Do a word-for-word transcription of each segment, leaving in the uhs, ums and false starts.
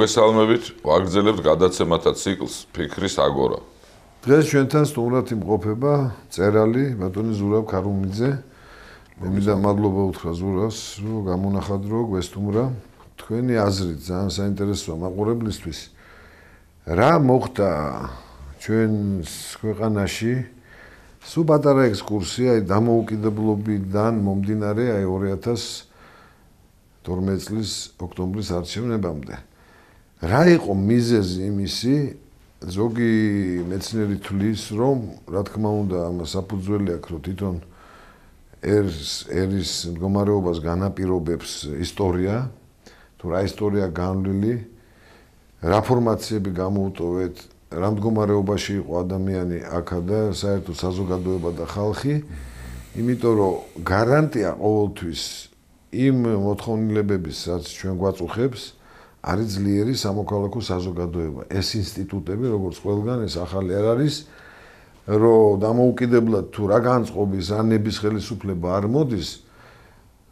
მოგესალმებით, ვაგრძელებთ გადაცემათა ციკლს ფიქრის აგორა. დღეს ჩვენთან სტუმრად იმყოფება წერალი ბატონი ზურაბ ქარუმიძე. მე მინდა მადლობა უთხრა ზურაბს, რომ გამონახადრო გვესტუმრა. თქვენი აზრით ძალიან საინტერესოა მაყურებლისთვის. რა მოხდა ჩვენს ქვეყანაში? სულ პატარა ექსკურსია, აი დამოუკიდებლობიდან მომდინარე აი ორი ათას თორმეტი წლის ოქტომბრის არჩევნებამდე. რა იყო მიზეზი იმისი? ზოგი მეცნიერი თვლის, რომ რა თქმა უნდა ამას საფუძველი აქვს, რომ თვითონ ერის ერის მდგომარეობას განაპირობებს ისტორია, თუ რა ისტორია განვლილი, რა ფორმაციები გამოუტოვეთ, რა მდგომარეობაში იყო ადამიანი აქა და საერთოდ საზოგადოება და ხალხი, იმიტომ რომ გარანტია ყოველთვის იმ მოთხოვნილებების, რაც ჩვენ გვაწუხებს, არის ძლიერი სამოქალაქო საზოგადოება. ეს ინსტიტუტები, როგორც ყველგან, ეს ახალი არ არის, რომ დამოუკიდებლად თუ რა განწყობის ანების ხელისუფლება არ მოდის,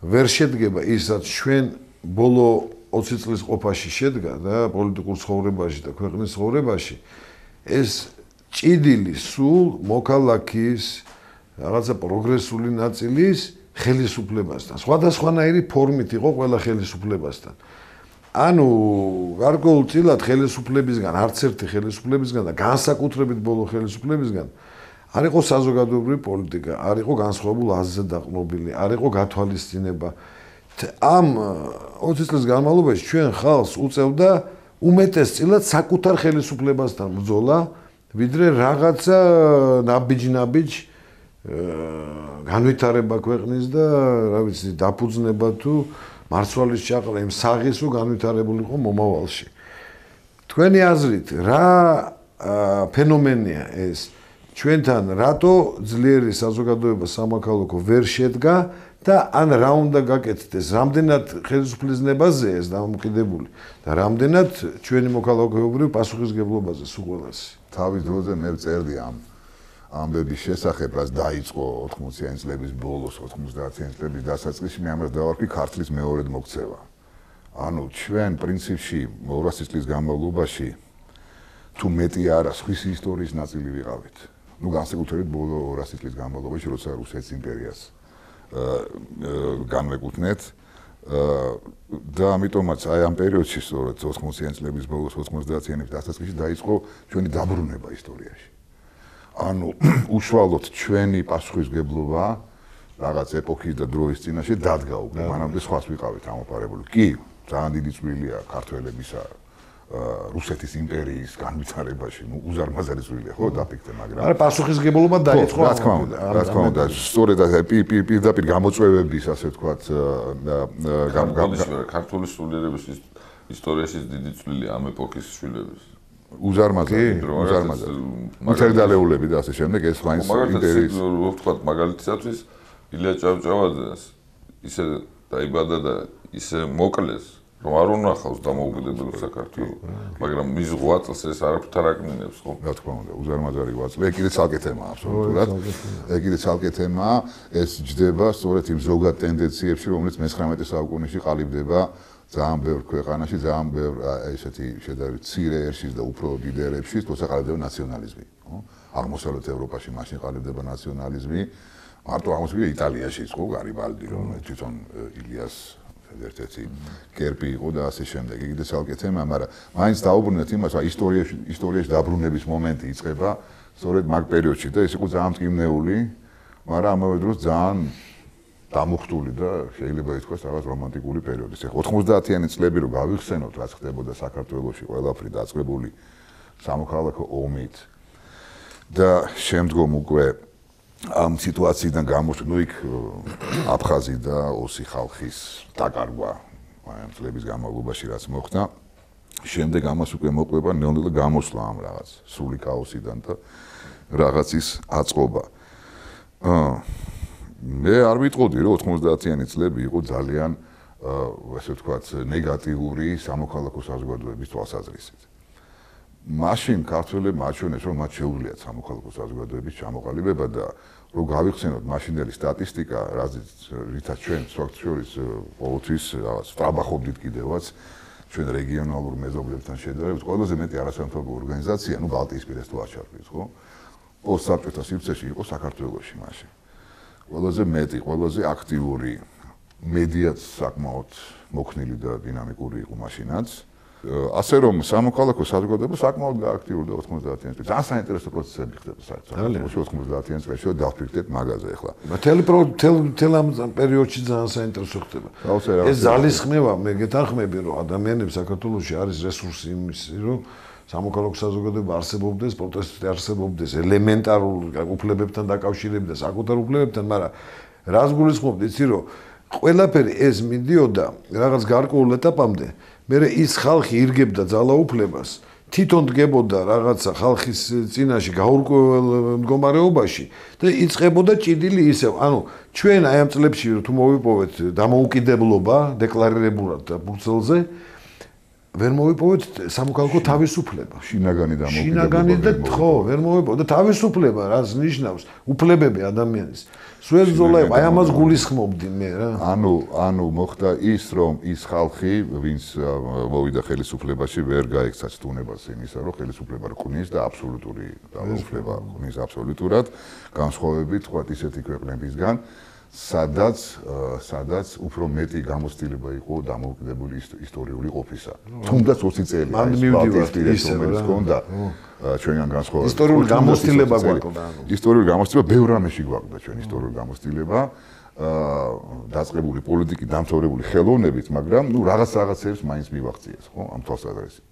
ვერ შედგება ის, რაც ჩვენ ბოლო ოცი წლის ყოფაში შედგა და პოლიტიკურ ცხოვრებაში და ქვეყნის ცხოვრებაში, ეს ჭიდილი სულ მოქალაქის რაღაცა პროგრესული ნაწილის ხელისუფლებასთან. სხვადასხვანაირი ფორმით იყო ყველა ხელისუფლებასთან. ანუ გარკვეულწილად ხელისუფლებისგან, არც ერთი ხელისუფლებისგან და განსაკუთრებით ბოლო ხელისუფლებისგან არ იყო საზოგადოებრივი პოლიტიკა, არ იყო განსხვავებულ აზრზე დაყრდნობილი, არ იყო გათვალისწინება. ამ ოცი წლის განმავლობაში ჩვენ ხალხს უწევდა უმეტესწილად საკუთარ ხელისუფლებასთან ბრძოლა, ვიდრე რაღაცა ნაბიჯ-ნაბიჯ განვითარება ქვეყნის და რა ვიცი, დაფუძნება თუ მარცვალის ჩაყრა იმ საღის რო განვითარებულიყო მომავალში. თქვენი აზრით, რა ფენომენია ეს? ჩვენთან რატო ძლიერი საზოგადოება სამოქალაქო ვერ შედგა და ან რა უნდა გაკეთდეს? რამდენად ხელისუფლებაზეა ეს დამოკიდებული და რამდენად ჩვენი მოქალაქეობრივ პასუხისგებლობაზე სულ ყველასი? თავის დროზე მე ვწერდი ამ ამბების შესახებ, რაც დაიწყო ოთხმოციანი წლების ბოლოს, ოცდაათიანი წლების დასაწყისში, მე ამას დავარქვი ქართლის მეორედ მოქცევა. ანუ ჩვენ პრინციპში ორასი წლის განმავლობაში თუ მეტი არა სხვის ისტორიის ნაწილი ვიყავით. ნუ განსაკუთრებით ბოლო ორასი წლის განმავლობაში, როცა რუსეთის იმპერიას განვეკუთვნეთ და ამიტომაც აი ამ პერიოდში, სწორედ ოთხმოციანი წლების ბოლოს, ოცდაათიანების დასაწყისში დაიწყო ჩვენი დაბრუნება ისტორიაში. ანუ უშუალოდ ჩვენი პასუხისგებლობა რაღაც ეპოქის და დროის წინაშე დადგა უკვე, მანამდე სხვას ვიყავით ამოპარებული. კი, ძალიან დიდი წვლილია ქართველებისა რუსეთის იმპერიის განვითარებაში, ნუ უზარმაზარი წვლილია, ხო, დაფიქრე, მაგრამ არა, პასუხისგებლობა დაიწყო. რა თქმა უნდა, რა თქმა უნდა, სწორედ პირდაპირ გამოწვევების, ასე ვთქვათ, ქართული სულიერების ისტორიაში დიდი წვლილია ამ ეპოქის შვილების. უზარმაზარი, უზარმაზარი. მუცერდალეულები და ასე შემდეგ ეს მაინც იმპერიის. ვთქვათ, მაგალითისათვის ილია ჭავჭავაძეს ისე დაიბადა და ისე მოკლეს, რომ არ უნახავს დამოუკიდებელ საქართველოს, მაგრამ მის ღვაწლს ეს არაფერ არ აკნინებს, ხო? რა თქმა უნდა, უზარმაზარი ღვაწლი. ეგ კიდე ცალკე თემაა, აბსოლუტურად. ეგ კიდე ცალკე თემაა, ეს ჯდება სწორედ იმ ზოგად ტენდენციებში, რომელიც მეცხრამეტე საუკუნეში ყალიბდება ძალიან ბევრ ქვეყანაში, ძალიან ბევრ ესეთი შედარებით მცირე ერშის და უფრო დიდ ერებში, თორსა ყალიბდება ნაციონალიზმი, ხო? აღმოსავლეთ ევროპაში მაშინ ყალიბდება ნაციონალიზმი, მარტო აღმოსავლეთ იტალიაშიც, ხო, გარიბალდი, რომ თვითონ ილიას ერთ-ერთი კერპი იყო და ასე შემდეგ. იგი და ცალკე თემაა, მაგრამ მაინც დაუბრუნდეთ იმას, რომ ისტორიაში ისტორიაში დაბრუნების მომენტი იწყება სწორედ მაგ პერიოდში და ეს იყო ძალიან მტკივნეული, მაგრამ ამავე დროს ძალიან დამუხტული და შეიძლება ითქვას რაღაც რომანტიკული პერიოდი. ეხლა ოცდაათიანი წლები რო გავიხსენოთ, რაც ხდებოდა საქართველოში, ყველაფერი დაწყებული სამოქალაქო ომით და შემდგომ უკვე ამ სიტუაციიდან გამოსული, ნუ იქ აფხაზი და ოსი ხალხის დაკარგვა ამ წლების განმავლობაში რაც მოხდა, შემდეგ ამას უკვე მოყვება ნელ-ნელა გამოსვლა ამ რაღაც სრული ქაოსიდან და რაღაცის აწყობა. აა მე არ ვიტყოდი, რომ ოცდაათიანი წლები იყო ძალიან, ასე ვთქვათ, ნეგატიური სამოქალაქო საზოგადოების თვალსაზრისით. მაშინ ქართველებმა აჩვენეს, რომ მათ შეუძლიათ სამოქალაქო საზოგადოების ჩამოყალიბება და რომ გავიხსენოთ მაშინდელი სტატისტიკა, რითაც ჩვენ ფაქტ შორის ყოველთვის რაღაც ვტრაბახობდით კიდევაც, ჩვენ რეგიონალურ მეზობლებთან შედარებით ყველაზე მეტი არასამთავრობო ორგანიზაცია, ну ბალტიისპირას თუ აჩარგვის, ხო? პოსტსაბჭოთა სივრცეში იყო საქართველოში მაშინ. ყველაზე მეტი, ყველაზე აქტიური მედიაც საკმაოდ მოქნილი და დინამიკური იყო მაშინაც. ასე რომ სამოქალაქო საზოგადოება საკმაოდ გააქტიურდა ოთხმოცდაათიან წელს. ძალიან საინტერესო პროცესები ხდება საქართველოში ოთხმოცდაათიან წელს, დავფიქრდეთ მაგაზე ახლა. მთელი მთელ ამ პერიოდში ძალიან საინტერესო ხდება. ეს ძალისხმევა, მე გეთანხმები, რომ ადამიანებს საქართველოში არის რესურსი იმისი, რომ სამოქალაქო საზოგადოება არსებობდეს, პროტესტი არსებობდეს, ელემენტარულ უფლებებთან დაკავშირებით და საკუთარ უფლებებთან, მაგრამ რას გულისხმობთ, იცი რომ ყველაფერი ეს მიდიოდა რაღაც გარკვეულ ეტაპამდე, მერე ის ხალხი ირგებდა ძალაუფლებას, თვითონ დგებოდა რაღაცა ხალხის წინაშე გაურკვეველ მდგომარეობაში და იწყებოდა ჭიდილი ისევ. ანუ ჩვენ აი ამ წლებში თუ მოვიპოვეთ დამოუკიდებლობა დეკლარირებულად და ბრუქსელზე ვერ მოვიპოვეთ სამოქალაქო თავისუფლება. შინაგანი დამოუკიდებლობა. შინაგანი და ხო, ვერ მოვიპოვეთ და თავისუფლება რას ნიშნავს? უფლებები ადამიანის. სულ ზოლა აი ამას გულისხმობდი მე რა. ანუ ანუ მოხდა ის რომ ის ხალხი, ვინც მოვიდა ხელისუფლებაში, ვერ გაექცა ცდუნებას იმისა, რომ ხელისუფლება რკნის და აბსოლუტური ძალაუფლება რკნის აბსოლუტურად, განსხვავებით თქვა ისეთი ქვეყნებისგან, სადაც სადაც უფრო მეტი გამოცდილება იყო დამოუკიდებელი ისტორიული ყოფისა. თუნდაც ოცი წელი ის რომელიც ჰქონდა ჩვენგან განსხვავებით. ისტორიული გამოცდილება გვაქვს. ისტორიული გამოცდილება ბევრ რამეში გვაქვს ჩვენ ისტორიული გამოცდილება. დაწყებული პოლიტიკით დამთავრებული ხელოვნებით, მაგრამ ნუ რაღაც რაღაცებს მაინც მივაღწიეს, ხო? ამ თვალსაზრისით.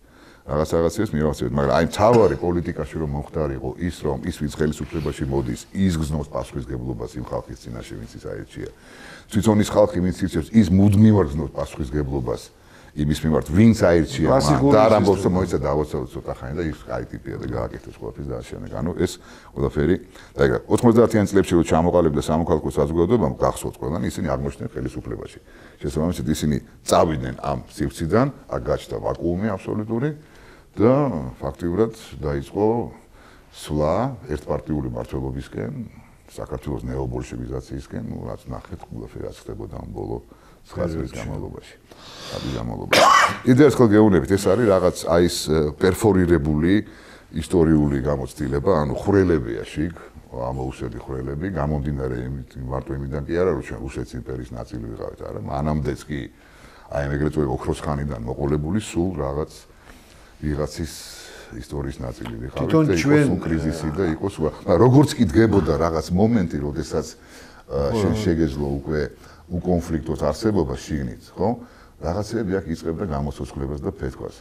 რაღაც რაღაცებს მივაღწიეთ, მაგრამ აი თავარი პოლიტიკაში რომ მომხდარიყო ის რომ ის ვინც ხელისუფლებაში მოდის, ის გზნობს პასუხისგებლობას იმ ხალხის წინაშე, ვინც ის აერჩია. თვითონ ის ხალხი, ვინც ირჩევს, ის მუდმივად გზნობს პასუხისგებლობას იმის მიმართ, ვინც აერჩია მან და არ ამბობს რომ მოიცა დავოცავ ცოტა ხანი და ის აი ტიპია და გააკეთეს ყველაფერს და ამჟამად. ანუ ეს ყველაფერი და ეგ ოთხმოცდაათიან წლებში რომ ჩამოყალიბდა სამოქალაქო საზოგადოებამ გახსოვთ ყველანი ისინი აღმოჩნდნენ ხელისუფლებაში. შესაბამისად ისინი წავიდნენ ამ სივრციდან, აქ გაჩნდა ვაკუუმი აბსოლუტური და ფაქტიურად დაიწყო სვლა ერთპარტიული მმართველობისკენ, საქართველოს ნეობოლშევიზაციისკენ, ну რაც ნახეთ, ყველაფერი რაც ხდებოდა ამ ბოლო ცხრა წლის განმავლობაში. აბი განმავლობაში. იდეას ხო გეუბნებით, ეს არის რაღაც აი ეს პერფორირებული ისტორიული გამოცდილება, ანუ ხვრელებია შიგ, ამოუსები ხვრელები, გამომდინარე იმით, მარტო იმიდან კი არა, რომ ჩვენ რუსეთის იმპერიის ნაწილი ვიყავით, არა, მანამდეც კი აი ეგრეთ წოდებული ოქროს ხანიდან მოყოლებული სულ რაღაც ვიღაცის ისტორიის ნაწილი ვიყავით და იყო კრიზისი და იყო სხვა. როგორც კი დგებოდა რაღაც მომენტი, როდესაც შენ შეგეძლო უკვე უკონფლიქტოს არსებობა შიგნით, ხო? რაღაცები აქ იწყებდა გამოცოცხლებას და ფეთქვას.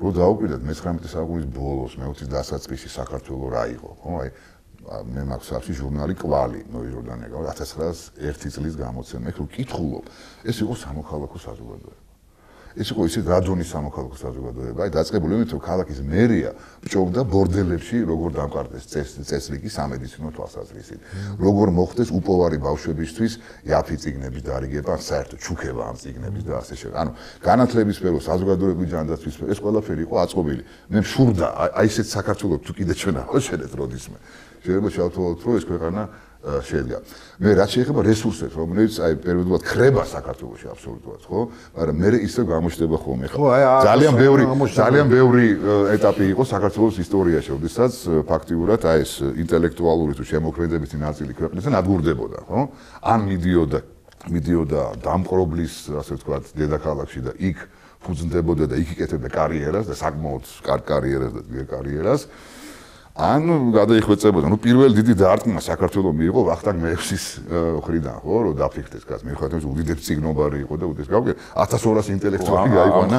რო დაუკვირდეთ მეცხრამეტე საუკუნის ბოლოს, მეოცის დასაწყისში საქართველოს რა იყო, ხო? აი მე მაქვს სახში ჟურნალი კვალი ნოიროდანე, ათას ცხრაას ერთი წლის გამოცემა. ეხლა ვკითხულობ, ეს იყო სამოქალაქო საზოგადოება. ეს იყო ისე რადონის სამოქალაქო საზოგადოება, აი დაწყებული იმით, რომ ქალაქის მერია ბჭობდა ბორდელებში, როგორ დამყარდეს წესრიგი სამედიცინო თვალსაზრისით, როგორ მოხდეს უპოვარი ბავშვებისთვის იაფი წიგნების დარიგება, საერთოდ ჩუქება ამ წიგნების და ასე შემდეგ. ანუ განათლების სფერო, საზოგადოებრივი ჯანდაცვის სფერო, ეს ყველაფერი იყო აწყობილი. მე მშურდა აი ესეთ საქართველოს თუ კიდე ჩვენ ავშენეთ როდისმე. შეიძლება შევთვალოთ, რომ ეს ქვეყანა შედგა. მე რაც შეეხება რესურსებს, რომლებიც აი პერიოდულად ხრება საქართველოში აბსოლუტურად, ხო? მაგრამ მე ისე გამოჩნდება ხოლმე. ძალიან ბევრი ძალიან ბევრი ეტაპი იყო საქართველოს ისტორიაში, როდესაც ფაქტიურად აი ეს ინტელექტუალური თუ შემოქმედებითი ნაწილი ქვეყნისგან ადგურდებოდა, ხო? ან მიდიოდა მიდიოდა დამპყრობლის, ასე ვთქვათ, დედაქალაქში და იქ ფუძნდებოდა და იქ იკეთებდა კარიერას და საკმაოდ კარგ კარიერას და ძლიერ კარიერას. ან გადაიხვეწებოდა. ნუ პირველ დიდი დარტყმა საქართველოს მიიღო ვახტანგ მეექვსის მხრიდან, ხო, რომ დაფიქრდეს გას. მიუხედავად იმისა, უდიდესი ციგნობარი იყო და უდიდესი გავიგე ათას ორასი ინტელექტუალი გაიყვანა.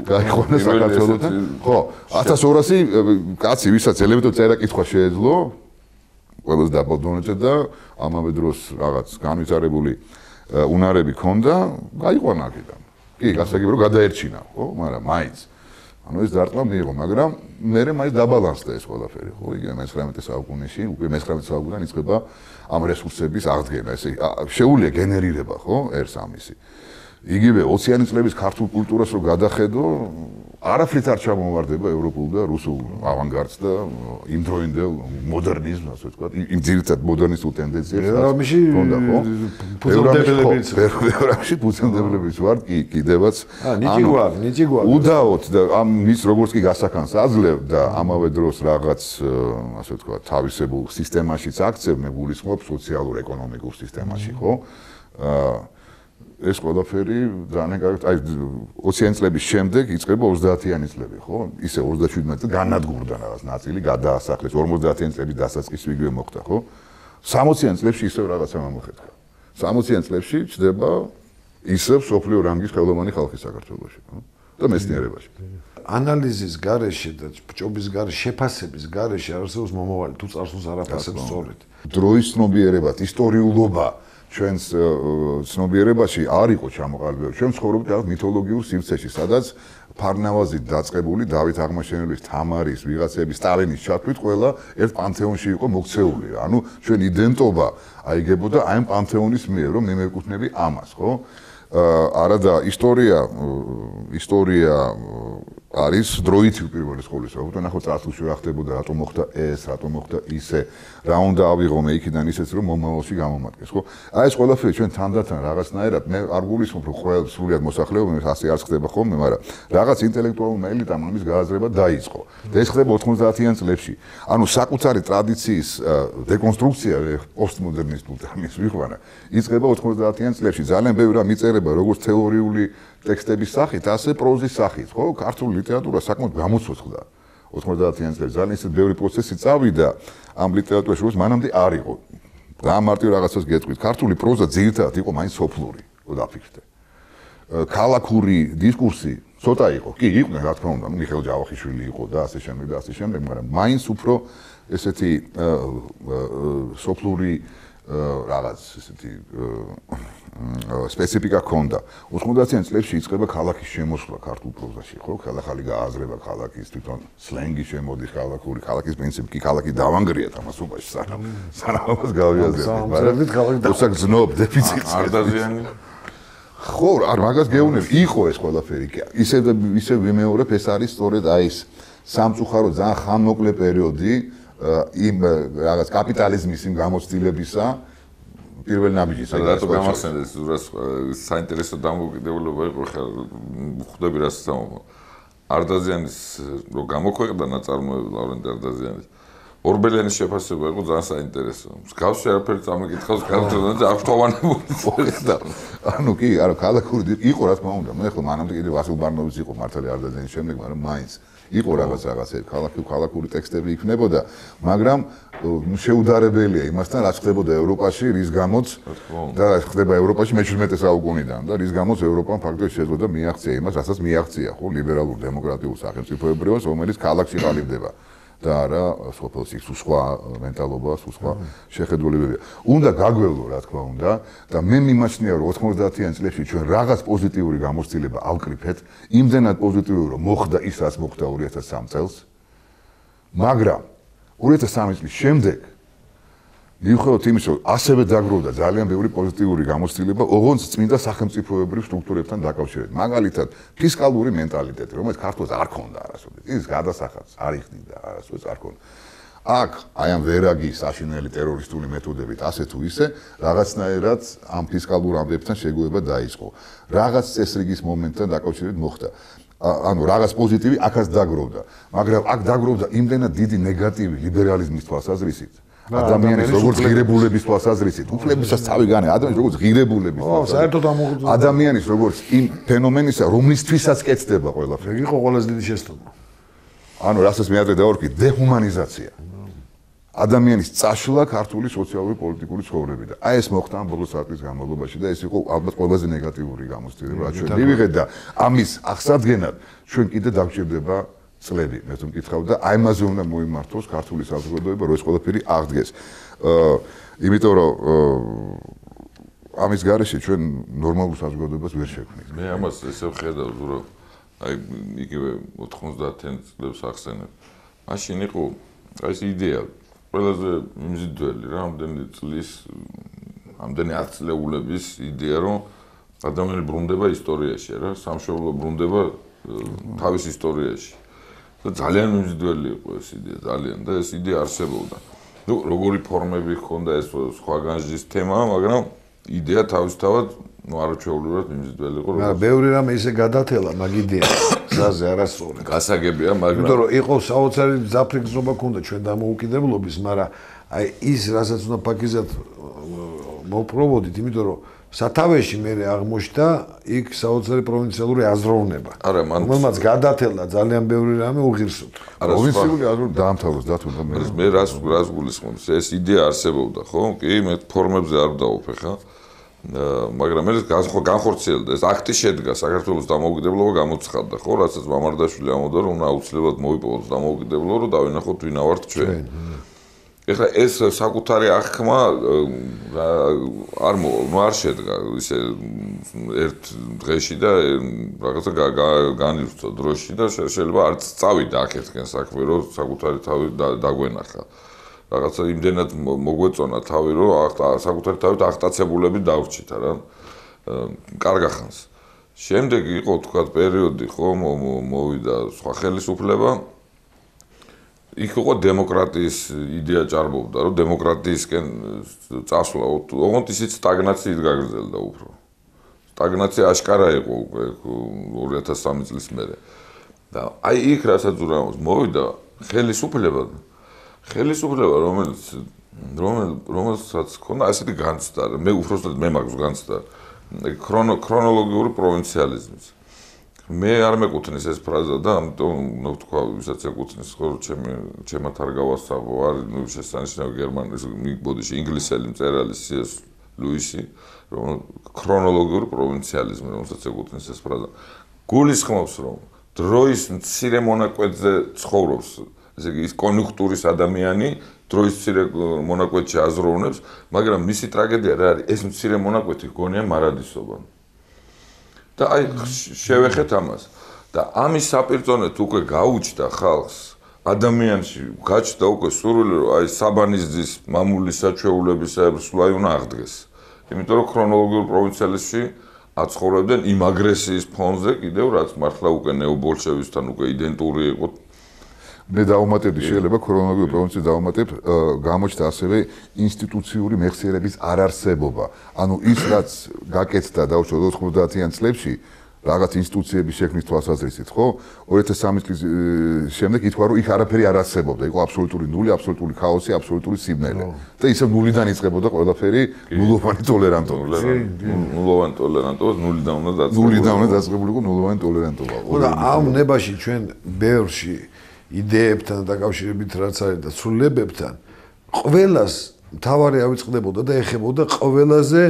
გაიყვანა საქართველოსთან. ხო, ათას ორასი კაცი, ვისაც ელემენტური წერა-კითხვა შეეძლო, ყველას დაბალდონეჭდა და ამავე დროს რაღაც განვითარებული უნარები ჰქონდა, გაიყვანა აქედან. კი, გასაგები რომ გადაერჩინა, ხო, მაგრამ მაინც ანუ ეს დარტყმა მიიღო, მაგრამ მერე მაინც დაბალანსდა ეს ყველაფერი, ხო? იგივე მეცხრამეტე საუკუნეში, უკვე მეცხრამეტე საუკუნიდან იწყება ამ რესურსების აღდგენა, ესე შეუძლია გენერირება, ხო? ერთს ამისი. იგივე ოციანი წლების ქართულ კულტურას რო გადახედო, არაფრით არ ჩამოვარდება ევროპულ და რუსულ ავანგარდს და იმდროინდელ მოდერნიზმს, ასე ვთქვათ, იმ ძირითად მოდერნისტულ ტენდენციებს ჰქონდა, ხო? ფუძემდებლებიც. ევროპაში ფუძემდებლებიც ვარ, კი, კიდევაც. აა, ნიჭი გვაქვს, ნიჭი გვაქვს. უდაოდ და ამ მის როგორც კი გასახანს აძლევ და ამავე დროს რაღაც, ასე ვთქვათ, თავისებურ სისტემაშიც აქცევ, მე გულისხმობ სოციალურ-ეკონომიკურ სისტემაში, ხო? აა ეს ყველაფერი ძალიან კარგად, აი ოციანი წლების შემდეგ იწყება ოცდაათიანი წლები, ხო? ისე ოცდაშვიდმეტი წელი განადგურდა რაღაც ნაწილი, გადაასახლეს ორმოცდაათიანი წლების დასაწყისი იგივე მოხდა, ხო? სამოციანი წლებში ისევ რაღაცა მომხეთქა. სამოციანი წლებში ჩდება ისევ სოფლიო რანგის ხელოვანი ხალხი საქართველოში, ხო? და მეცნიერებაში. ანალიზის გარეშე და ჭობის გარეშე, შეფასების გარეშე არსებობს მომავალი, თუ წარსულს არ აფასებს სწორედ. დროის ცნობიერებად, ისტორიულობა ჩვენს ცნობიერებაში არ იყო ჩამოყალიბებული. ჩვენ ცხოვრობთ რაღაც მითოლოგიურ სივრცეში, სადაც ფარნავაზით დაწყებული დავით აღმაშენებლის, თამარის, ვიღაცების, სტალინის ჩათვლით ყველა ერთ პანთეონში იყო მოქცეული. ანუ ჩვენ იდენტობა აიგებოდა აი ამ პანთეონის მიერ, რომ მე მეკუთვნები ამას, ხო? არადა ისტორია ისტორია არის დროითი პირველი სკოლის, ხო? ნახო წარსულში რა ხდებოდა, რატომ მოხდა ეს, რატომ მოხდა ისე, რა უნდა ავიღო მე იქიდან ისეც რომ მომავალში გამომადგეს, ხო? აი ეს ყველაფერი ჩვენ თანდათან რაღაცნაირად მე არ გულისხმობ რომ ყველა სრულად მოსახლეობა ასე არ ხდება ხოლმე, მაგრამ რაღაც ინტელექტუალურმა ელიტამ ამის გააზრება დაიწყო. და ეს ხდება ოცდაათიან წლებში. ანუ საკუთარი ტრადიციის დეკონსტრუქცია პოსტმოდერნისტულ ტერმინს ვიყვანა, იწყება ოცდაათიან წლებში. ძალიან ბევრი რამ იწერება როგორც თეორიული ტექსტების სახით, ასე პროზის სახით, ხო? ქართული ლიტერატურა საკმაოდ გამოცოცხლდა ოცდაათიან წლებში. ძალიან ისეთ ბევრი პროცესი წავიდა ამ ლიტერატურაში, როგორც მანამდე არ იყო. რა მარტივ რაღაცას გეტყვით. ქართული პროზა ძირითადად იყო მაინც სოფლური, რო დაფიქრდე. ქალაქური დისკურსი ცოტა იყო. კი, იყვნენ, რა თქმა უნდა, მიხეილ ჯავახიშვილი იყო და ასე შემდეგ და ასე შემდეგ, მაგრამ მაინც უფრო ესეთი სოფლური რაღაც ესეთი სპეციფიკა ჰქონდა. ოცდაათიან წლებში იწყება ქალაქის შემოსვლა ქართულ პროზაში, ხო? ხალხალი გააზრება ქალაქის თვითონ სლენგი შემოდის ქალაქური, ქალაქის პრინციპი კი ქალაქი დავანგრია თამასობაში სანამ სანამ ამას გავიაზრებთ, მაგრამ თორსა გზნობ დეფიციტს არდაზიანი ხო, არ მაგას გეუბნები, იყო ეს ყველაფერი. ისე ისე ვიმეორებ, ეს არის სწორედ აი ეს სამწუხარო ძალიან ხანმოკლე პერიოდი იმ რაღაც კაპიტალიზმის იმ გამოცდილებისა პირველ ნაბიჯის. რატო გამახსენდეს ზურას საინტერესო დამოუკიდებლობა იყო ხა ხვდები რა სამო. არდაზიანის რო გამოქვეყნდა ნაწარმოები ლავრენტი არდაზიანის ორბელიანის შეფასება იყო ძალიან საინტერესო. მსგავსი არაფერი წამიკითხავს ქართულად და აღშტოვანებული მოხდა. ანუ კი, არა ქალაქური იყო რა თქმა უნდა. მე ხო მანამდე კიდე ვასილ ბარნოვიც იყო მართალი არდაზიანის შემდეგ, მაგრამ მაინც იყო რაღაც რაღაცები, ქალაქი ქალაქური ტექსტები იქნებოდა, მაგრამ შეუდარებელია იმასთან, რაც ხდებოდა ევროპაში, რის გამოც და რაც ხდება ევროპაში მეჩვიდმეტე საუკუნიდან და რის გამოც ევროპამ ფაქტობრივად შეძლო და მიაღწია იმას, რასაც მიაღწია, ხო, ლიბერალურ დემოკრატიულ სახელმწიფოებრიობას, რომელიც ქალაქში ყალიბდება. და არა სოფელში სხვა მენტალობა, სხვა შეხედულებებია. უნდა გაგვევლო, რა თქმა უნდა, და მე მიმაჩნია, რომ ოცდაათიან წლებში ჩვენ რაღაც პოზიტიური გამოცდილება ავკრიფეთ, იმდენად პოზიტიური, რომ მოხდა ის, რაც მოხდა ორი ათას სამი წელს. მაგრამ ორი ათას სამი წლის შემდეგ მიუხედავად იმისა, რომ ასევე დაგროვდა ძალიან ბევრი პოზიტიური გამოცდილება, ოღონდ წმინდა სახელმწიფოებრივ სტრუქტურებთან დაკავშირებით. მაგალითად, ფისკალური მენტალიტეტი, რომელიც ქართულს არ ქონდა არასოდეს. ის გადასახადს არ იხდიდა არასოდეს არ ქონდა. აქ აი ამ ვერაგის საშინელი ტერორისტული მეთოდებით ასე თუ ისე რაღაცნაირად ამ ფისკალურ ამბებთან შეგუება დაიწყო. რაღაც წესრიგის მომენტთან დაკავშირებით მოხდა. ანუ რაღაც პოზიტივი აქაც დაგროვდა, მაგრამ აქ დაგროვდა იმდენად დიდი ნეგატივი ლიბერალიზმის თვალსაზრისით. ადამიანის როგორც ღირებულების თვალსაზრისით, უფლებისას თავი განა, ადამიანის როგორც ღირებულების თვალსაზრისით. ადამიანის როგორც იმ ფენომენისა, რომლისთვისაც კეთდება ყველაფერი. იყო ყველაზე დიდი შეცდომა. ანუ რასაც მე ადრე დავარქვი, დეჰუმანიზაცია. ადამიანის წაშლა ქართული სოციალური პოლიტიკური ცხოვრებიდან. აი ეს მოხდა ამ ბოლო საათის განმავლობაში და ეს იყო ალბათ ყველაზე ნეგატიური გამოცდილება, რაც ჩვენ მივიღეთ და ამის აღსადგენად ჩვენ კიდე დაგვჭირდება წლები, მე თუ მკითხავ და აი ამაზე უნდა მოიმართოს ქართული საზოგადოება, რომ ეს ყველაფერი აღდგეს. აა იმიტომ რომ ამის გარეშე ჩვენ ნორმალურ საზოგადოებას ვერ შექმნით. მე ამას ესე ვხედავ, რომ აი იგივე ოცდაათიან წლებს ახსენებ. მაშინ იყო აი ეს იდეა ყველაზე მიმზიდველი რა, ამდენი წლის ამდენი ათწლეულების იდეა, რომ ადამიანი ბრუნდება ისტორიაში რა, სამშობლო ბრუნდება თავის ისტორიაში. და ძალიან მიმზიდველი იყო ეს იდეა, ძალიან და ეს იდეა არსებობდა. ნუ როგორი ფორმები ჰქონდა ეს სხვა განსჯის თემა, მაგრამ იდეა თავისთავად ნუ არაჩვეულებრივად მიმზიდველი იყო. მაგრამ ბევრი რამე ისე გადათელა მაგ იდეას, ზაზე არასწორად. გასაგებია, მაგრამ იმიტომ რომ იყო საოცარი მძაფრი გზნობა ქონდა ჩვენ დამოუკიდებლობის, მაგრამ აი ის რასაც უნდა ფაქიზად მოპროვოდით, იმიტომ რომ სათავეში მე აღმოჩნდა იქ საოცარი პროვინციალური აზროვნება. არა, მან რომელმაც გადათელა ძალიან ბევრი რამე უღირსოთ. პროვინციული აზროვნება დაამთავროს დათუნდა მე. მე რას რას გულისხმობს? ეს იდეა არსებობდა, ხო? კი, მე ფორმებზე არ დავუფეხა. მაგრამ მე განხორციელდა ეს აქტი შედგა საქართველოს დამოუკიდებლობა გამოცხადდა, ხო? რასაც მამარდაშვილი ამბობდა, რომ უნდა აუცილებლად მოიპოვოს დამოუკიდებლობა, რომ დავინახოთ ვინა ვართ ჩვენ. ეხლა ეს საკუთარი აღქმა არ ნუ არ შედგა ისე ერთ დღეში და რაღაცა განივსო დროში და შეიძლება არც წავიდა აქეთკენ საქმე რომ საკუთარი თავი დაგვენახა რაღაცა იმდენად მოგვეწონა თავი რომ საკუთარი თავით აღტაცებულები დავრჩით რა კარგახანს შემდეგ იყო თქვა პერიოდი ხო მოვიდა სხვა ხელისუფლება იქ იყო დემოკრატიის იდეა ჭარბობდა, რომ დემოკრატიისკენ წასვლა, ოღონდ ისიც სტაგნაციით გაგრძელდა უფრო. სტაგნაცია აშკარა იყო უკვე ორი ათას სამი წლის მერე. და აი იქ რასაც ურამოს მოვიდა ხელისუფლება, ხელისუფლება რომელიც რომელსაც ქონდა ასეთი განცდა, მე უბრალოდ მე მაქვს განცდა, ქრონოლოგიური პროვინციალიზმის. მე არ მეკუთვნის ეს ფრაზა და ამიტომ ნუ თქვა ვისაც ეკუთვნის ხო ჩემი ჩემად არ გავასწავლო არ ნუ შესანიშნავი გერმანიის ბოდიში ინგლისელი მწერალი სი ეს ლუისი რომ ქრონოლოგიური პროვინციალიზმი რომელსაც ეკუთვნის ეს ფრაზა გულისხმობს რომ დროის მცირე მონაკვეთზე ცხოვრობს ესე იგი ის კონიუნქტურის ადამიანი დროის მცირე მონაკვეთში აზროვნებს მაგრამ მისი ტრაგედია რა არის ეს მცირე მონაკვეთი გონია მარადისობა და აი შევეხეთ ამას და ამის საპირწონეთ უკვე გაუჩნდა ხალხს ადამიანში გაჩნდა უკვე სურვილი რომ აი საბანისძის მამული საჩვეულებისა სულაი უნდა აღდგეს იმიტომ რომ ქრონოლოგიურ პროვინციალიზმში აცხოვრებდნენ იმ აგრესიის ფონზე კიდევ რაც მართლა უკვე ნეობოლშევიზმთან უკვე იდენტური იყო მე დავუმატებდი შეიძლება ქრონოლოგიურ პროვინციას დავუმატებ გამოჩნდა ასევე ინსტიტუციური მეხსიერების არარსებობა ანუ ის რაც გაკეთდა დაუშვათ ოთხმოცდაათიან წლებში რაღაც ინსტიტუციების შექმნის თვალსაზრისით ხო ორი ათას სამი წლის შემდეგ ითქვა რომ იქ არაფერი არ არსებობდა იყო აბსოლუტური ნული აბსოლუტური ქაოსი აბსოლუტური სიმნელე და ისევ ნულიდან იწყებოდა ყველაფერი ნულოვანი ტოლერანტობა ნულოვანი ტოლერანტობა ნულიდან უნდა დაწყებულიყო ნულიდან უნდა დაწყებულიყო ნულოვანი ტოლერანტობა და ამ ნებაში ჩვენ ბევრში იდეებთან დაკავშირებით რაც არის და ცვლილებებთან ყველას მთავარი ავიწყდებოდა და ეხებოდა ყველაზე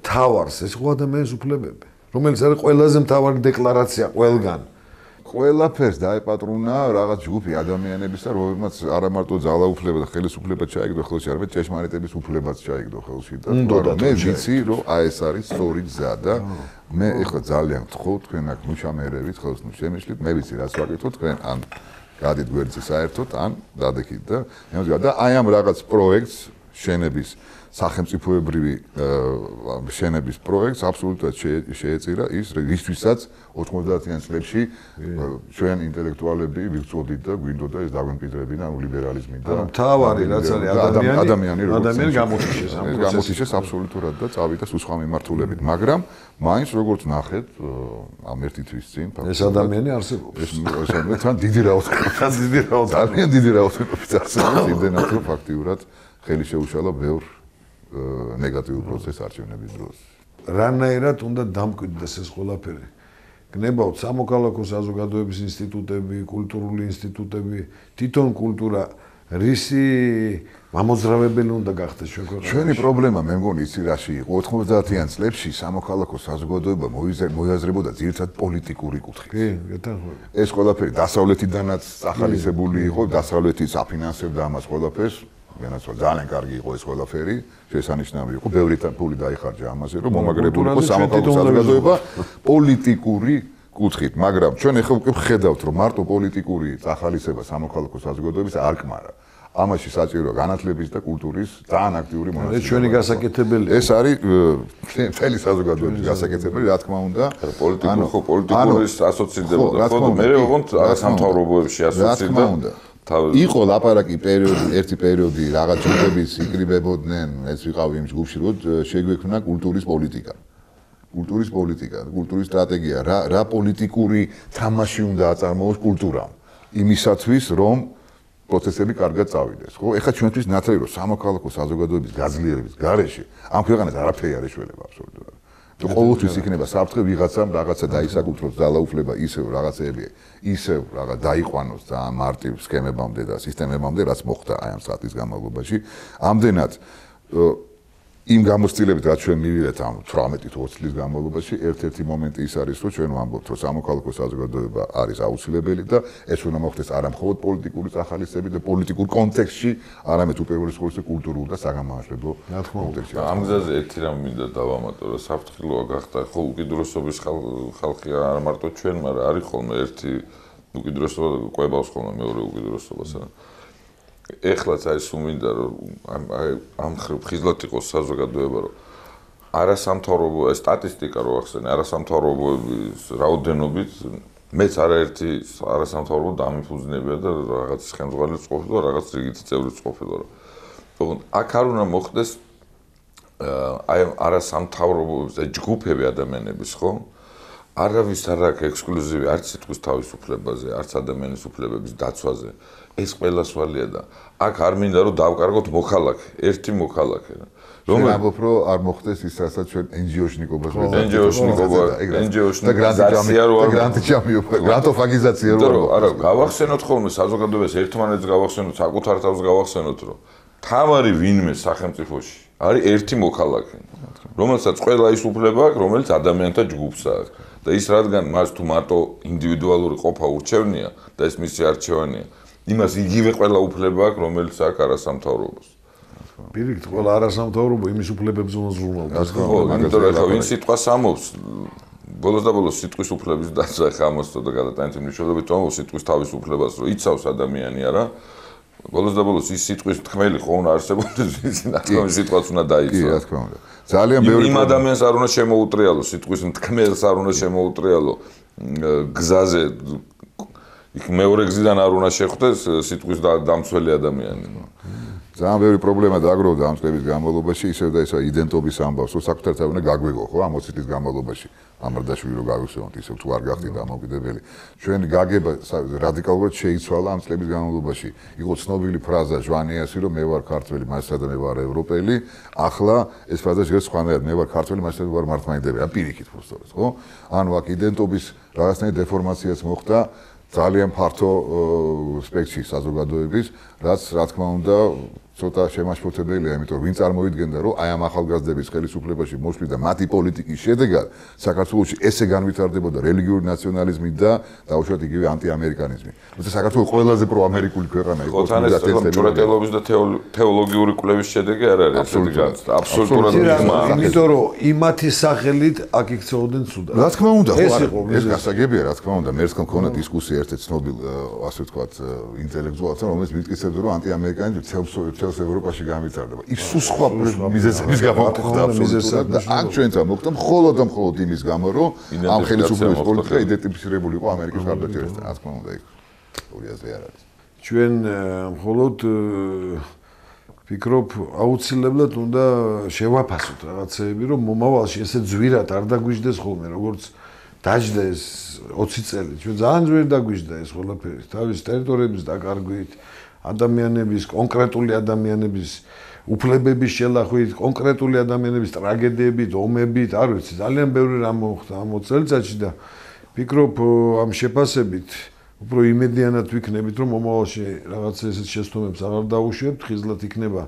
მთავარს ეს ხო ადამიანის უფლებები რომელიც არის ყველაზე მთავარი დეკლარაცია ყველგან ყველაფერს დაეპატრუნა რაღაც ჯგუფი ადამიანებისა რომელმაც არა მარტო ძალაუფლება და ხელისუფლება ჩაიგდო ხელში არამედ ჭეშმარიტების უფლებაც ჩაიგდო ხელში და მე ვიცი რომ აი ეს არის სწორი გზა და მე ეხლა ძალიან ვთხოვ თქვენ აქ მუშამერებით ხელს ნუ შემიშლით მე ვიცი რაც ვაკეთო თქვენ ან გადით გვერდზე საერთოდ ან დადექით და და აი ამ რაღაც პროექტს შენების სახელმწიფოებრივი შენების პროექტს აბსოლუტურად შეეწირა ის რისთვისაც ოთხმოცდაათიან წლებში ჩვენ ინტელექტუალები ვიღწოდით და გვინდოდა ეს დაგვემკვიდრებინა ლიბერალიზმი და მთავარი რაც არის ადამიანი ადამიანი ადამიანი გამოთიშეს ამ პროცესში გამოთიშეს აბსოლუტურად და წავიდა სუსხვა მიმართულებით მაგრამ მაინც როგორც ნახეთ ამ ერთი თვის წინ ეს ადამიანი არსებობს ეს ეს თან დიდი რაოდენობით დიდი რაოდენობით ძალიან დიდი რაოდენობით არსებობს იმდენად რომ ფაქტიურად ხელი შეუშალა ბევრ ნეგატიურ პროცესს არჩევნების დროს. რანაირად უნდა დამკვიდრდეს ეს ყველაფერი. გნებავთ სამოქალაქო საზოგადოების ინსტიტუტები, კულტურული ინსტიტუტები, თვითონ კულტურა რისი მამოძრავებელი უნდა გახდეს ჩვენ ქვეყანაში. ჩვენი პრობლემა მე მგონი იცი რაში იყო ოთხმოცდაათიან წლებში სამოქალაქო საზოგადოება მოიაზრებოდა ძირითადად პოლიტიკური კუთხით. კი, გეთანხმები. ეს ყველაფერი დასავლეთიდანაც ახალისებული იყო, დასავლეთიც აფინანსებდა ამას ყველაფერს. განაცვა ძალიან კარგი იყო ეს ყველაფერი, შესანიშნავი იყო, ბევრი ფული დაიხარჯა ამაზე, რომ მომაგრებული იყო სამოქალაქო საზოგადოება პოლიტიკური კუთხით, მაგრამ ჩვენ ახლა უკვე ვხედავთ, რომ მარტო პოლიტიკური წახალისება სამოქალაქო საზოგადოების არ კმარა. ამაში საჭიროა განათლების და კულტურის ძალიან აქტიური მონაწილეობა. ეს ჩვენი გასაკეთებელი. ეს არის მთელი საზოგადოების გასაკეთებელი, რა თქმა უნდა. პოლიტიკურ ხო პოლიტიკურის ასოცირდებოდა, ხო და მე ვიყავთ სამთავრობოებში ასოცირდა. იყო ლაპარაკი პერიოდი, ერთი პერიოდი რაღაც ჯგუფების იკრიბებოდნენ, ეს ვიყავი იმ ჯგუფში, რომ შეგვექმნა კულტურის პოლიტიკა. კულტურის პოლიტიკა, კულტურის სტრატეგია, რა რა პოლიტიკური თამაში უნდა აწარმოოს კულტურამ. იმისათვის, რომ პროცესები კარგად წავიდეს, ხო? ეხლა ჩვენთვის ნათელი რომ სამოქალაქო საზოგადოების გაძლიერების გარეშე ამ ქვეყანას არაფერი არ ეშველება აბსოლუტურად. თუ ყოველთვის იქნება საფრთხე ვიღაცამ რაღაცა დაისაკუთროს ძალაუფლება ისევ რაღაცეები, ისევ რაღაც დაიყვანოს და მარტივ სქემებამდე და სისტემებამდე, რაც მოხდა აი ამ საათის განმავლობაში, ამდენად იმ გამოცდილებით რაც ჩვენ მივიღეთ ამ თვრამეტი თუ ოცი წლის განმავლობაში, ერთ-ერთი მომენტი ის არის, რომ ჩვენ ვამბობთ, რომ სამოქალაქო საზოგადოება არის აუცილებელი და ეს უნდა მოხდეს არა მხოლოდ პოლიტიკური წახალისებით და პოლიტიკურ კონტექსტში, არამედ უპირველეს ყოვლისა კულტურულ და საგანმანათლებლო კონტექსტში. ამ გზაზე ერთი რამ მინდა დავამატო, რომ საფრთხილოა გახდა ხო უკიდურესობის ხალხი არ მარტო ჩვენ, მაგრამ არის ხოლმე ერთი უკიდურესობა ყვებავს ხოლმე მეორე უკიდურესობას. ეხლაც აი სულ მინდა რომ ამ ხიზლად იყოს საზოგადოება რომ არასამთავრობო სტატისტიკა რო ახსენე არასამთავრობოების რაოდენობით მეც არაერთი არასამთავრობო დამიფუძნებია და რაღაც ხელმძღვანელიც ყოფილა რაღაც რიგითი წევრიც ყოფილა რომ თქო აქ არ უნდა მოხდეს აი არასამთავრობო ჯგუფები ადამიანების ხო არავის არ აქვს ექსკლუზივი არც სიტყვის თავისუფლებაზე არც ადამიანის უფლებების დაცვაზე ეს ყველა სვალია და აქ არ მინდა რომ დავკარგოთ მოქალაქე, ერთი მოქალაქე. რომ ამბობ რომ არ მოხდეს ის რასაც ჩვენ ენჯიოშნიკობას ვეძებთ. ენჯიოშნიკობა, ენჯიოშნიკიზაცია რო არ გრანტიჩამიობა, გრანტოფაგიზაცია რო არა. არა, გავახსენოთ ხოლმე საზოგადოებას ერთმანეთს გავახსენოთ, საკუთარ თავს გავახსენოთ რომ თავარი ვინმე სახელმწიფოში არის ერთი მოქალაქე, რომელსაც ყველა ის უფლება აქვს, რომელიც ადამიანთა ჯგუფს აქვს. და ის რადგან მას თუ მარტო ინდივიდუალური ყოფა ურჩევნია და ეს მისი არჩევანია იმას იგივე ყველა უფლება აქვს, რომელიც აქვს არასამთავრობოს. პირიქით, ყველა არასამთავრობო იმის უფლებებს უნდა ზრუნავდეს. ხო, იმიტომ რომ ხო, ვინ სიტყვას ამობს, ბოლოს და ბოლოს სიტყვის უფლების დაცვა ხა ამოსწო და გადატანით მნიშვნელობით ამბობს სიტყვის თავისუფლებას, რომ იცავს ადამიანი არა. ბოლოს და ბოლოს ის სიტყვის თქმელი ხო უნდა არსებობდეს, ის ნახავი სიტყვაც უნდა დაიცვა. კი, რა თქმა უნდა. ძალიან ბევრი იმ ადამიანს არ უნდა შემოუტრიალო, სიტყვის თქმელს არ უნდა შემოუტრიალო გზაზე იქ მეორე გზიდან არ უნდა შეხვდეს სიტყვის დამცველი ადამიანი. ძალიან ბევრი პრობლემა დააგროვდა ამ წლების განმავლობაში, ისევ და ესა იდენტობის ამბავს, რომ საკუთარ თავი უნდა გაგვეგო, ხო, ამ ოცი წლის განმავლობაში. ამარდაშვილი რო გავიხსენოთ, ისევ თუ არ გახდით დამოუკიდებელი. ჩვენი გაგება რადიკალურად შეიცვალა ამ წლების განმავლობაში. იყო ცნობილი ფრაზა ჟვანიასი, რომ მე ვარ ქართველი, მასა და მე ვარ ევროპელი. ახლა ეს ფრაზა შეიძლება სხვანაირად, მე ვარ ქართველი, მასა და ვარ მართლმადიდებელი. ან პირიქით უბრალოდ, ხო? ანუ აქ იდენტობის რაღაცნაირი დეფორმაციაც მოხდა. ძალიან ფართო სპექტრი საზოგადოების, რაც რა თქმა უნდა ცოტა შემაშფოთებელია, იმიტომ რომ ვინ წარმოიდგენდა, რომ აი ამ ახალგაზრდების ხელისუფლებაში მოსვლის და მათი პოლიტიკის შედეგად საქართველოში ესე განვითარდებოდა რელიგიური ნაციონალიზმი და დაუშვათ იგივე ანტიამერიკანიზმი. თუმცა საქართველოს ყველაზე პროამერიკული ქვეყანა იყო და ჭურეტელობის და თეოლოგიური კვლევის შედეგი არ არის ესეთი განცდა. აბსოლუტურად მიღმა. იმიტომ რომ იმათი სახელით აქ იქცეოდნენ ცუდად. რა თქმა უნდა, ხო, ეს გასაგებია, რა თქმა უნდა, მერც მქონდა დისკუსია ერთ-ერთ ცნობილ, ასე ვთქვათ, ინტელექტუალთან, რომელიც მიტკიცებდა, რომ ანტიამერიკანიზმი თელს ევროპაში გამვითარდება. ის სულ სხვა მიზეზების გამო ხდება აბსოლუტურად და აქ ჩვენთან მოხდა მხოლოდ და მხოლოდ იმის გამო, რომ ამ ხელისუფლების პოლიტიკა იდენტიფიცირებული იყო ამერიკის მხარდაჭერასთან. რა თქმა უნდა, იქ ორი აზრი არ არის. ჩვენ მხოლოდ ვფიქრობ, აუცილებლად უნდა შევაფასოთ რაღაცეები, რომ მომავალში ესე ძვირად არ დაგვიждდეს ხოლმე, როგორც დაждდა ეს ოცი წელი. ჩვენ ძალიან ძვირად დაგვიждდა ეს ყველაფერი, თავის ტერიტორიების დაკარგვით. ადამიანების, კონკრეტული ადამიანების უფლებების შელახვით, კონკრეტული ადამიანების ტრაგედიებით, ომებით, არ ვიცი, ძალიან ბევრი რამ მოხდა ამ ოცი წელიწადში და ვფიქრობ ამ შეფასებით უფრო იმედიანად ვიქნებით, რომ მომავალში რაღაც ესეთ შეცდომებს აღარ დაუშვებთ, ხიზლად იქნება,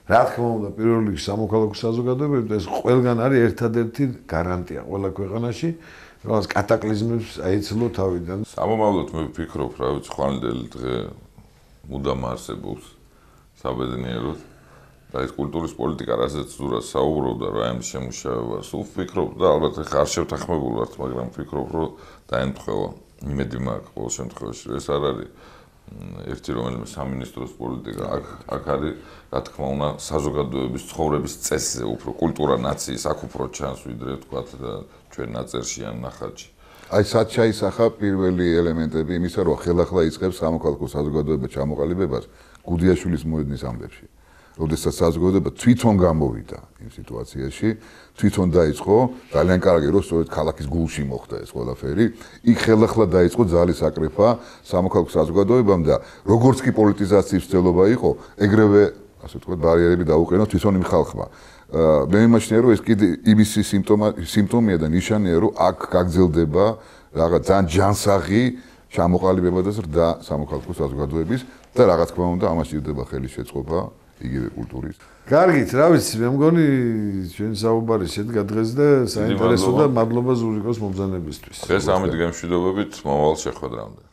რა თქმა უნდა, პირველ რიგში სამოქალაქო საზოგადოებები და ეს ყველგან არის ერთადერთი გარანტია ყველა ქვეყანაში, რაღაც კატაკლიზმებს აეცილო თავიდან. სამომავლოდ მე ვფიქრობ, რა ვიცი, ხვალინდელი დღე მუდამ არსებობს საბედნიეროდ და ეს კულტურის პოლიტიკა რასაც ზურას საუბრობდა რა ამ შემუშავებას სულ ვფიქრობ და ალბათ ხარ შევთანხმებული ვართ მაგრამ ვფიქრობ რომ დაემთხევა იმედი მაქვს ყოველ შემთხვევაში ეს არ არის ერთი რომელიმე სამინისტროს პოლიტიკა აქ აქ არის რა თქმა უნდა საზოგადოების ცხოვრების წესზე უფრო კულტურა ნაციის აქ უფრო ჩანს ვიდრე თქვათ ჩვენ ნაწერში ან ნახატში. აი სად ჩაისახა პირველი ელემენტები იმისა რომ ხელახლა იწყებს სამოქალაქო საზოგადოება ჩამოყალიბებას გუდიაშვილის მოედნის ამბებში. როდესაც საზოგადოება თვითონ გამოვიდა იმ სიტუაციაში, თვითონ დაიწყო, ძალიან კარგი რომ სწორედ ქალაქის გულში მოხდა ეს ყველაფერი, იქ ხელახლა დაიწყო ძალის აკრეფა სამოქალაქო საზოგადოებამ და როგორც კი პოლიტიზაციის ცდილობა იყო, ეგრევე, ასე ვთქვათ, ბარიერები დაუყენო თვითონ იმ ხალხმა. მე მიმაჩნია რომ ეს კიდე იმისი სიმპტომია და ნიშანია რომ აქ გაგრძელდება რაღაც ძალიან ჯანსაღი ჩამოყალიბება და ზრდა სამოქალაქო საზოგადოების და რა თქმა უნდა ამას ჭირდება ხელის შეწყობა იგივე კულტურის. კარგით, რა ვიცი, მე მგონი ჩვენ საუბარი შედგა დღეს და საინტერესო და მადლობა ზურიკოს მომბრძანებისთვის. დღეს ამით გემშვიდობებით მომავალ შეხვედრამდე.